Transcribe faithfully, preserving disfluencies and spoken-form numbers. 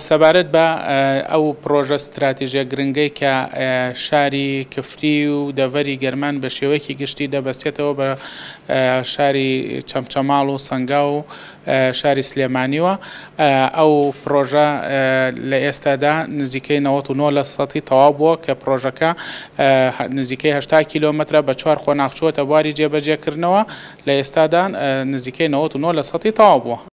سەبارەت بە ئەو پرۆژە ستراتیژیە گرنگەی کە شاری کفری و دەڤەری گەرمان بە شێوەیەکی گشتی دەبەستێتەوە بە شاری چەمچەماڵ و سەنگاو و شاری سلێمانیوە، ئەو پرۆژە لە ئێستادا نزیکەی نەوەت و نۆ لە سەدی تەواو بووە کە پرۆژەکە نزیکەی هەشتا کیلۆمەترە بە چوار قۆناغ چووەتە بواری جێبەجێکردنەوە، لە ئێستادا نزیکەی نەوەت و نۆ لە سەدی تەواو بووە.